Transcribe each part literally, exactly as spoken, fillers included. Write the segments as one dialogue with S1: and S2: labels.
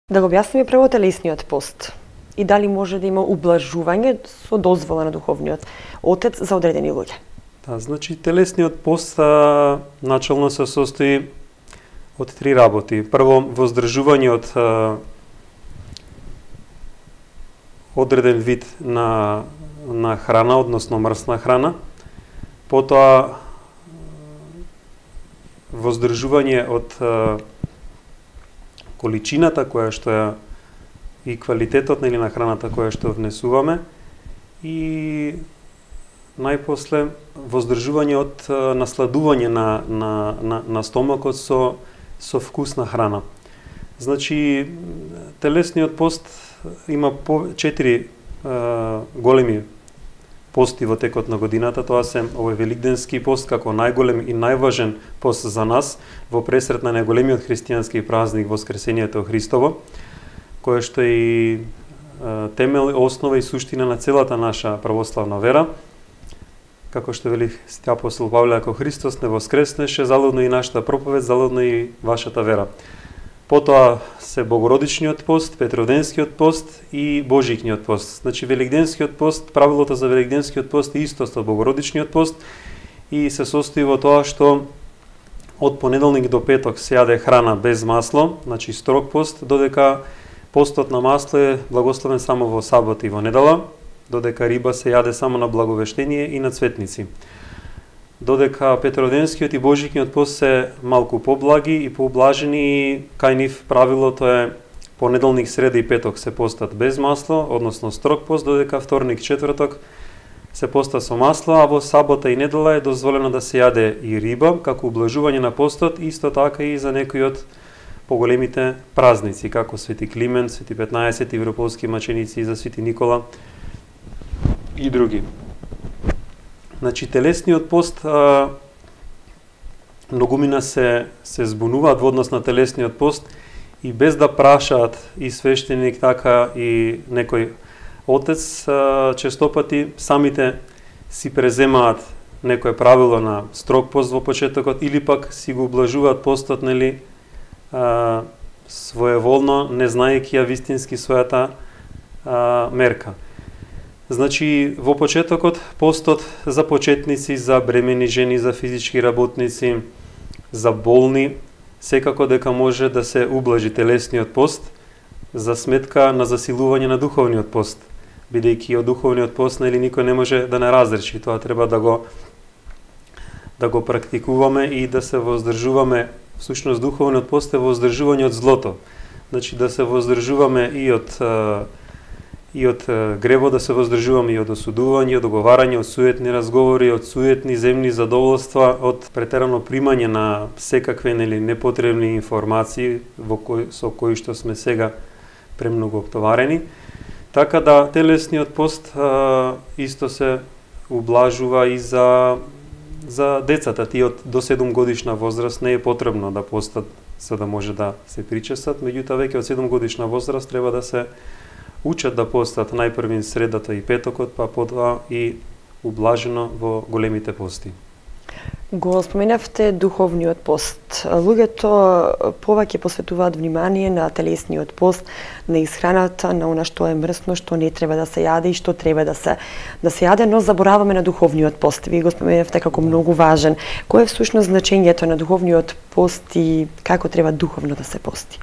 S1: Да го објасниме прво телесниот пост и дали може да има ублажување со дозвола на духовниот отец за одредени луѓе.
S2: Да, значи телесниот пост а, начално се состои од три работи. Прво, воздржување од а, одреден вид на на храна, односно мрсна храна. Потоа воздржување од а, количината која што ја и квалитетот нели на храната која што внесуваме и најпосле воздржување од а, насладување на на на на стомакот со со вкусна храна. Значи телесниот пост има по четири а, големи пости во текот на годината. Тоа се овој великденски пост како најголем и најважен пост за нас во пресрет на најголемиот христијански празник Воскресението Христово, кое што е и е, темел, основа и суштина на целата наша православна вера. Како што вели Свети апостол Павле, ако Христос не воскреснеше, залудно и нашата проповед, залудно и вашата вера. Потоа се Богородичниот пост, Петроденскиот пост и Божикниот пост. Значи Великденскиот пост, правилото за Великденскиот пост е исто со Богородичниот пост и се состои во тоа што од понеделник до петок се јаде храна без масло, значи строг пост, додека постот на масло е благословен само во сабот и во недела, додека риба се јаде само на благовештение и на цветници. Додека Петроденскиот и Божикниот пост се малку поблаги и поублажени и кај нив правилото е понеделник, среда и петок се постат без масло, односно строг пост, додека вторник, четврток се поста со масло, а во сабота и недела е дозволено да се јаде и риба, како ублажување на постот, исто така и за некои од поголемите празници, како Свети Климент, Свети петнаесет, Европолски маченици, за Свети Никола и други. Значи телесниот пост а, многумина се се збунуваат во однос на телесниот пост и без да прашаат и свештеник, така и некој отец, а, честопати самите си преземаат некое правило на строг пост во почетокот или пак си го ублажуваат постот, нели, а, своеволно, не знаејќи ја вистински својата а, мерка. Значи, во почетокот, постот за почетници, за бремени жени, за физички работници, за болни, секако дека може да се ублажи телесниот пост за сметка на засилување на духовниот пост. Бидејќи од духовниот пост, нели, никој не може да не разреши. Тоа треба да го да го практикуваме и да се воздржуваме. Всушност, духовниот пост е воздржување од злото. Значи, да се воздржуваме и од и од гревот, да се воздржуваме и од осудување, од оговарање, од суетни разговори, од суетни земни задоволства, од претерано примање на секакви, нели, непотребни информации во кои, со кои што сме сега премногу оптоварени. Така да телесниот пост а, исто се ублажува и за за децата. Тие од до седум годишна возраст не е потребно да постат за да може да се причесат, меѓутоа веќе од седум годишна возраст треба да се учат да постат најпрвин средата и петокот, па потоа и ублажено во големите пости.
S1: Го споменавте духовниот пост. Луѓето повеќе посветуваат внимание на телесниот пост, на исхраната, на она што е мрсно, што не треба да се јаде и што треба да се да се јаде, но забораваме на духовниот пост. Вие го споменавте како многу важен. Кој е всушност значењето на духовниот пост и како треба духовно да се пости?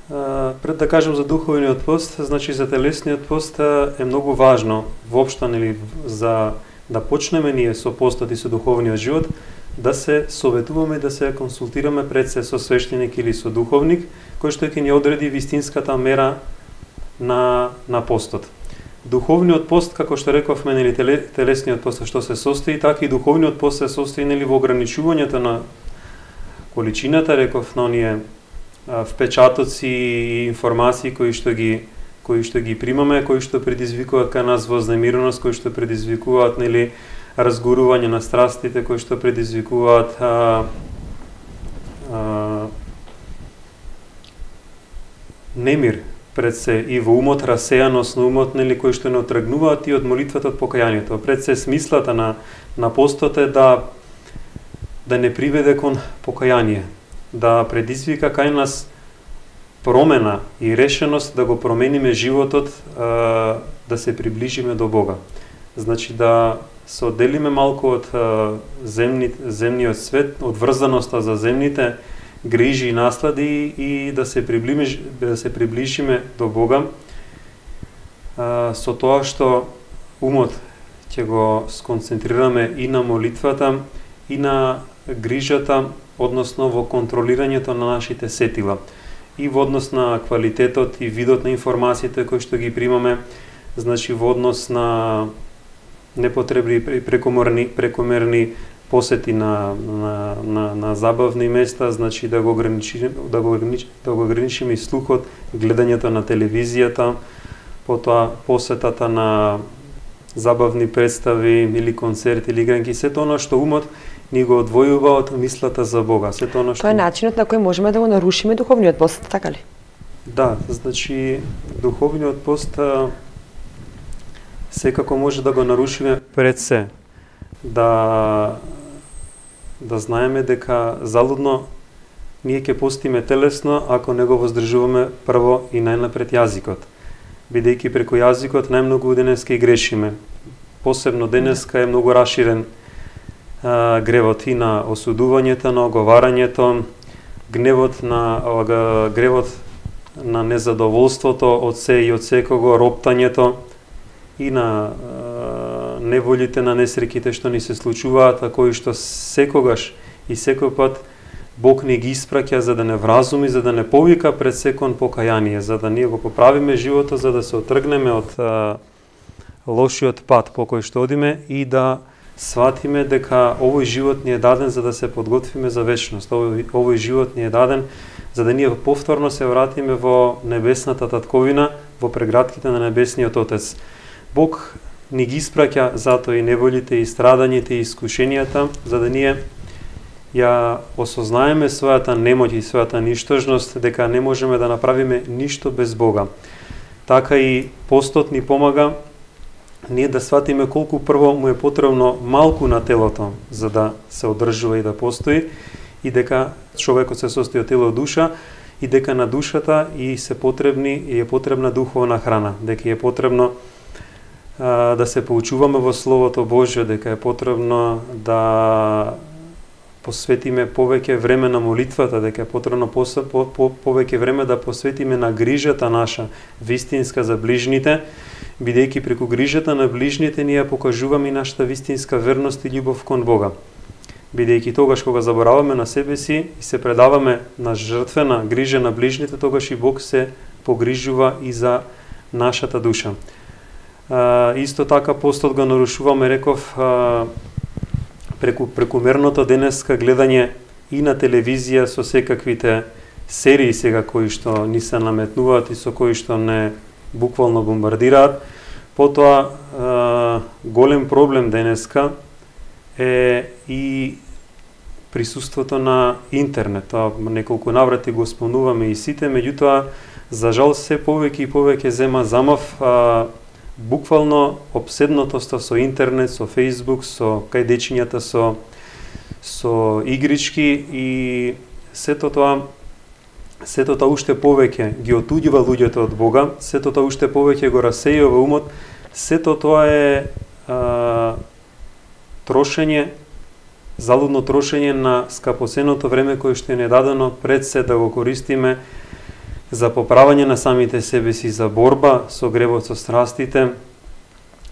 S2: Uh, пред да кажем за духовниот пост, значи за телесниот пост е многу важно воопшто, нели, за да почнеме ние со постот и со духовниот живот, да се советуваме, да се консултираме пред се со свештеник или со духовник, кој што ќе ни одреди вистинската мера на на постот. Духовниот пост, како што рековме, нели, телесниот пост што се состои, така и духовниот пост се состои, нели, во ограничувањето на количината, реков, на оние впечатоци и информации кои што ги кои што ги примаме, кои што предизвикуваат кај нас вознемиреност, кои што предизвикуваат, нели, разгорување на страстите, кои што предизвикуваат а, а, немир пред се и во умот, расејаност на умот, нели, кои што не отргнуваат и од молитвата, од покајанието. Пред се смислата на на постот е да да не приведе кон покаяние, да предизвика кај нас промена и решеност да го промениме животот, а, да се приближиме до Бога. Значи да се одделиме малку од земни, земниот свет, од врзаноста за земните грижи и наслади и да се приближиме, да се приближиме до Бога а, со тоа што умот ќе го сконцентрираме и на молитвата, и на грижата, односно во контролирањето на нашите сетила, и во однос на квалитетот и видот на информациите кои што ги примаме, значи во однос на непотребни прекомерни прекомерни посети на на на, на забавни места, значи да го ограничиме да го ограничиме да го ограничиме и слухот, гледањето на телевизијата, потоа посетата на забавни представи или концерти или игранки, сето она што умот ни го одвојува од мислата за Бога, сето она што
S1: Тоа е начинот на кој можеме да го нарушиме духовниот пост, така ли?
S2: Да, значи духовниот пост а, секако може да го нарушиме пред се. Да да знаеме дека залудно ние ќе постиме телесно ако не го воздржуваме прво и најнапред јазикот. Бидејќи преку јазикот најмногу денеска и грешиме. Посебно денеска е многу раширен а, гревот и на осудувањето, на оговарањето, гневот на а, гревот на незадоволството од се и од секого, роптањето и на а, неволите, на несреќите што ни се случуваат, а кои што секогаш и секој пат Бог ни ги испраќа за да не вразуми, за да не повика пред секој покаяние, за да ние го поправиме животот, за да се отргнеме од а, лошиот пат по кој што одиме и да сватиме дека овој живот ни е даден за да се подготвиме за вечност. Овој, овој живот ни е даден за да ние повторно се вратиме во небесната татковина, во прегратките на небесниот Отец. Бог ни ги испраќа затоа и неволите, и страдањите, и искушенијата, за да ние ја осознаеме својата немоќ и својата ништожност, дека не можеме да направиме ништо без Бога. Така и постот ни помага ние да сватиме колку прво му е потребно малку на телото за да се одржува и да постои, и дека човекот се состои од тело и душа, и дека на душата и се потребни и е потребна духовна храна, дека е потребно а, да се поучуваме во Словото Божјо, дека е потребно да посветиме повеќе време на молитвата, дека е потребно по, по, по, повеќе време да посветиме на грижата наша, вистинска за ближните, бидејќи преку грижата на ближните ние покажуваме и нашата вистинска верност и љубов кон Бога. Бидејќи тогаш кога забораваме на себе си и се предаваме на жртвена грижа на ближните, тогаш и Бог се погрижува и за нашата душа. А, исто така постот го нарушуваме, реков, а, преку прекумерното денеска гледање и на телевизија со секаквите серии сега кои што ни се наметнуваат и со кои што не буквално бомбардираат. Потоа е, голем проблем денеска е и присуството на интернет. Тоа неколку наврати го спомнуваме и сите, меѓутоа за жал се повеќе и повеќе зема замав а, буквално обседнатоста со интернет, со Facebook, со кај дечињата со со игрички, и сето тоа сето тоа уште повеќе ги отуѓува луѓето од Бога, сето тоа уште повеќе го расејува умот, сето тоа е а, трошење, залудно трошење на скапосеното време кое што е недадено пред се да го користиме за поправање на самите себе си, за борба со гревот, со страстите,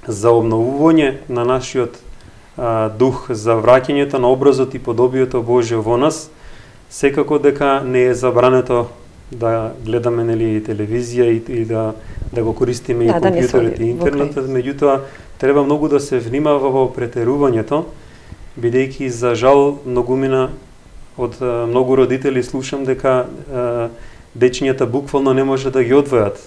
S2: за обновување на нашиот а, дух, за враќањето на образот и подобието Божјо во нас. Секако дека не е забрането да гледаме, нели, телевизија и, и да да го користиме да, и компјутерот и интернетот, меѓутоа треба многу да се внимава во претерувањето, бидејќи за жал многумина од а, многу родители слушам дека а, дечињата буквално не може да ги одвојат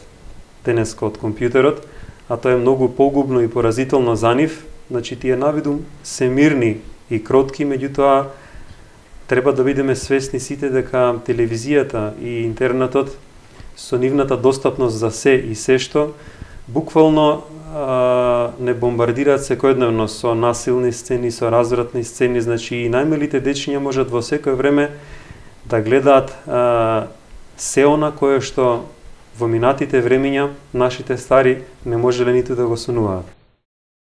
S2: денеска од компјутерот, а тоа е многу погубно и поразително за нив. Значи тие навидум се мирни и кротки, меѓутоа треба да бидеме свесни сите дека телевизијата и интернетот со нивната достапност за се и се што буквално а, не бомбардираат секојдневно со насилни сцени, со развратни сцени. Значи и најмалите дечиња можат во секој време да гледаат а, се она кое што во минатите времиња нашите стари не можеле ниту да го сонуваат.